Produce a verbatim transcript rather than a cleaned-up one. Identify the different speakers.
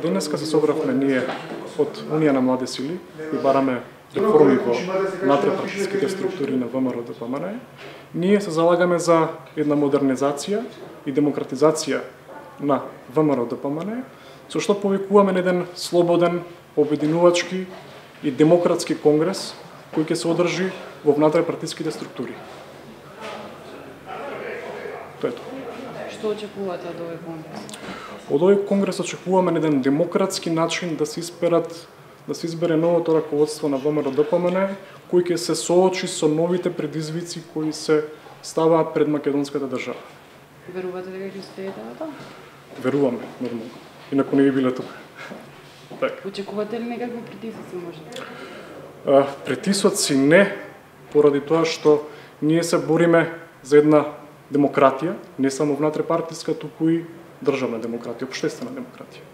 Speaker 1: Денеска се собравме ние од Унија на млади сили и бараме реформи во внатре-партиските структури на ВМРО-ДПМНЕ. Ние се залагаме за една модернизација и демократизација на ВМРО-ДПМНЕ, со што повикуваме на еден слободен, обединувачки и демократски конгрес кој ќе се одржи во внатре-партиските структури. Тоа е тоа.
Speaker 2: Што очекувате од овој конгрес?
Speaker 1: Од овој конгрес очекуваме на еден демократски начин да се изберат да се избере новото раководство на ВМРО-ДПМНЕ, кој ќе се соочи со новите предизвици кои се ставаат пред македонската држава.
Speaker 2: Верувате дека ќе успеете на тоа?
Speaker 1: Веруваме, нормално. Инаку не би биле тука.
Speaker 2: Так. Очекувате ли некакви притисоци може?
Speaker 1: А, притисоци не, поради тоа што ние се бориме за една демократија, не само внатре партиска, туку и државна демократија, општествена демократија.